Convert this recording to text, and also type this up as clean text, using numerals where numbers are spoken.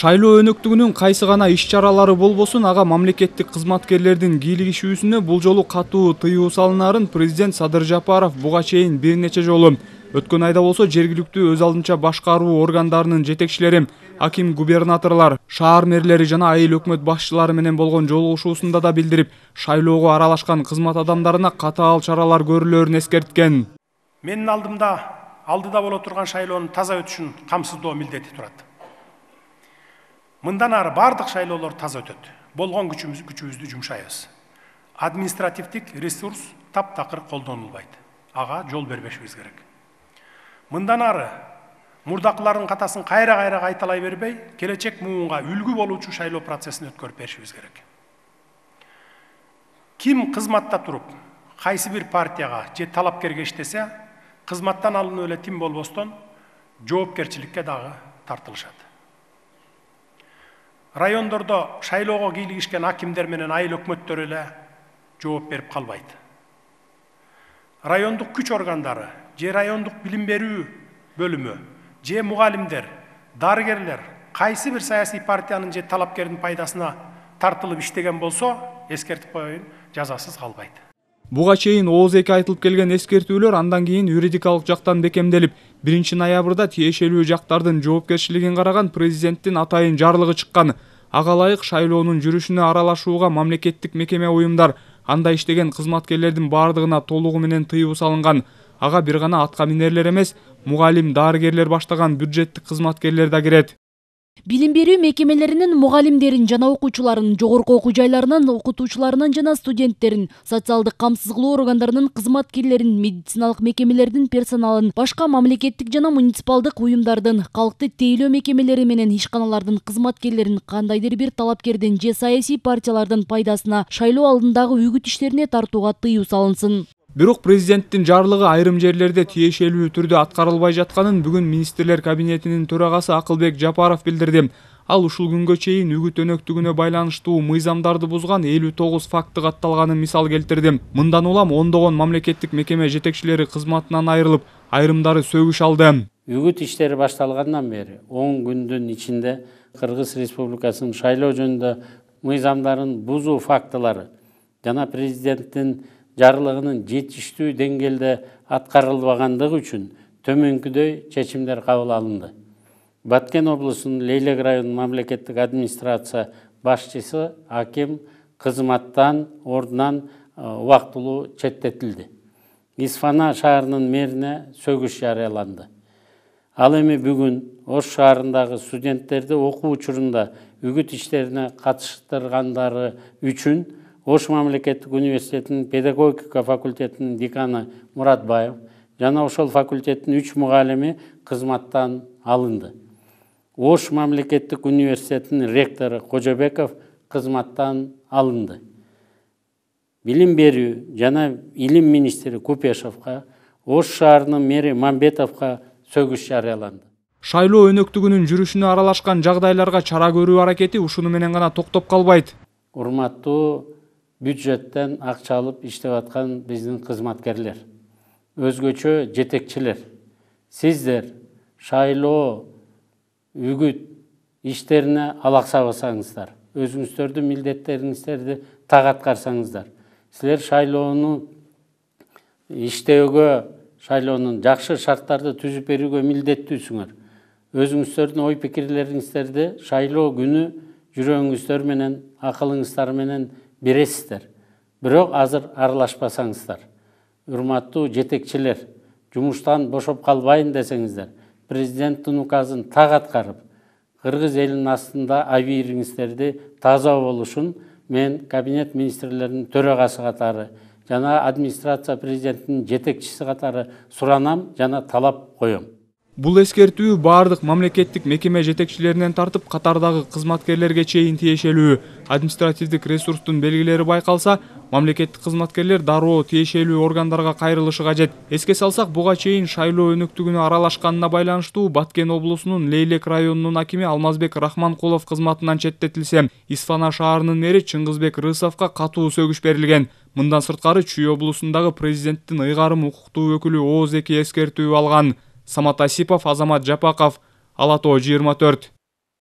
Шайлоо өнөктүгүнүн кайсы гана иш-чаралары болбосун, ага мамлекеттик кызматкерлердин кийлигишүүсүнө бул жолу катуу тыюу салынаарын президент Садыр Жапаров буга чейин бир нече жолу. Өткөн айда болсо жергиликтүү өз алдынча башкаруу органдарынын жетекчилери, аким губернаторлор, шаар мэрлери жана айыл өкмөт башчылары менен болгон жолугушуусунда да билдирип, шайлоого аралашкан кызмат адамдарына катаал чаралар көрүлөрүн эскерткен. Менин алдыда боло турган шайлоонун таза өтүшүн камсыздоо милдети турат. Мындан ары бардык шайлоолор таза өтөт. Болгон күчүбүздү жумшайбыз. Административдик ресурс таптакыр колдонулбайт. Ага жол бербешибиз керек. Мындан ары мурдакылардын катасын кайра кайталай бербей, келечек муунга үлгү болуучу шайлоо процессин өткөрүп беришибиз керек. Ким кызматта туруп, кайсы бир партияга же талапкерге иштесе, кызматтан алынып эле тим болбостон жоопкерчиликке дагы тартылышат. Райондордо шайлоого кийлигишкен акимдер менен айыл өкмөттөр эле жооп берип калбайт. Райондук күч органдары, же райондук билим берүү бөлүмү, же мугалимдер, дарыгерлер кайсы бир саясий партиянын же талапкердин пайдасына тартылып иштеген болсо, эскертип коеюн, жазасыз калбайт. Буга чейин ооз эки айтылып келген эскертүүлөр андан кийин юридикалык жактан бекемделип, 1-ноябрда тиешелүү жактардын жоопкерчилигин караган президенттин атайын жарлыгы чыккан. Ага ылайык шайлоонун жүрүшүнө аралашууга мамлекеттик мекеме уюмдар, анда иштеген кызматкерлердин бардыгына толугу менен тыюу салынган. Ага бир гана атка минерлер эмес, мугалим, дарыгерлер баштаган бюджеттик кызматкерлер да кирет. Билим берүү мекемелеринин мугалимдерин жана окуучуларын, жогорку окуу жайларынын окутуучуларынан жана студенттерин, социалдык камсыз кылуу органдарынын кызматкерлерин, медициналык мекемелердин персоналын, башка мамлекеттик жана муниципалдык уюмдардын, калкты тейлөө мекемелери менен ишканалардын кызматкерлерин кандайдыр бир талапкердин же саясий партиялардын пайдасына шайлоо алдындагы үгүт иштерине тартууга тыюу салынсын. Бирок президенттин жарлыгы айрым жерлерде тиешелүү түрдө аткарылбай жатканын бүгүн министрлер кабинетинин төрагасы Акылбек Жапаров билдирди. Ал ушул күнгө чейин үгүт өнөктүгүнө байланыштуу мыйзамдарды бузган 59 факты катталганын мисал келтирди. Мындан улам ондогон мамлекеттик мекеме жетекчилери кызматынан айрылып, айрымдары сөгүш алды. Үгүт иштери башталгандан бери 10 күндүн ичинде Кыргыз Республикасынын шайлоо жөнүндө мыйзамдарын бузуу фактылары жана президенттин жарлыгынын жетиштүү деңгээлде аткарылбагандыгы үчүн төмөнкүдөй чечимдер кабыл алынды. Баткен облусунун Лейлек районунун мамлекеттик администрация башчысы аким кызматтан ордунан убактылуу четтетилди. Исфана шаарынын мэрине сөгүш жарыяланды. Ал эми бүгүн Ош шаарындагы студенттерди окуу учурунда үгүт иштерине катыштыргандары үчүн Ош мамлекеттик университетинин педагогика факультетинин деканы Муратбаев жана ошол факультеттин 3 мугалими кызматтан алынды. Ош мамлекеттик университетинин ректору Кожобеков кызматтан алынды. Билим берүү жана илим министри Купешовго, Ош шаарынын мэри Мамбетовго сөгүш жарыяланды. Шайлоо өнөктүгүнүн жүрүшүнө аралашкан жагдайларга чара көрүү аракети ушуну менен гана токтоп калбайт. Урматтуу бюджеттен акча алып иштеп аткан биздин кызматкерлер, өзгөчө жетекчилер, сиздер шайлоо үгүт иштерине алаксабасаңыздар, өзүңүздөрдүн милдеттериңиздерди так аткарсаңыздар, силер шайлоону иштөөгө, шайлоонун жакшы шарттарды түзүп берүүгө милдеттүүсүңөр. Өзүңүздөрдүн ой пикирлериңиздерди шайлоо күнү жүрөгүңүздөр менен, акылыңыздар менен бересиздер. Бирок азыр аралашпасаңыздар, урматтуу жетекчилер, жумуштан бошоп калбайын десеңиздер, президенттин указын так аткарып, Кыргыз элинин астында абийириңиздерди таза болушун мен кабинет министрлеринин төрагасы катары жана администрация президенттин жетекчиси катары суранам жана талап коем. Бул эскертүү бардык мамлекеттик мекеме жетекчилеринен тартып катардагы кызматкерлерге чейин тиешелүү. Административдик ресурстун белгилери байкалса, мамлекеттик кызматкерлер дароо тиешелүү органдарга кайрылышы кажет. Эске салсак, буга чейин шайлоо өнөктүгүнө аралашканына байланыштуу Баткен облусунун Лейлек районунун акими Алмазбек Рахманкулов кызматынан четтетилсе, Исфана шаарынын мэри Чыңгызбек Рысовго катуу сөгүш берилген. Мындан сырткары Чүй облусундагы президенттин ыйгарым укуктуу өкүлү ооз эки эскертүү алган. Самат Асипов, Азамат Жапаков, Ала Тоо 24.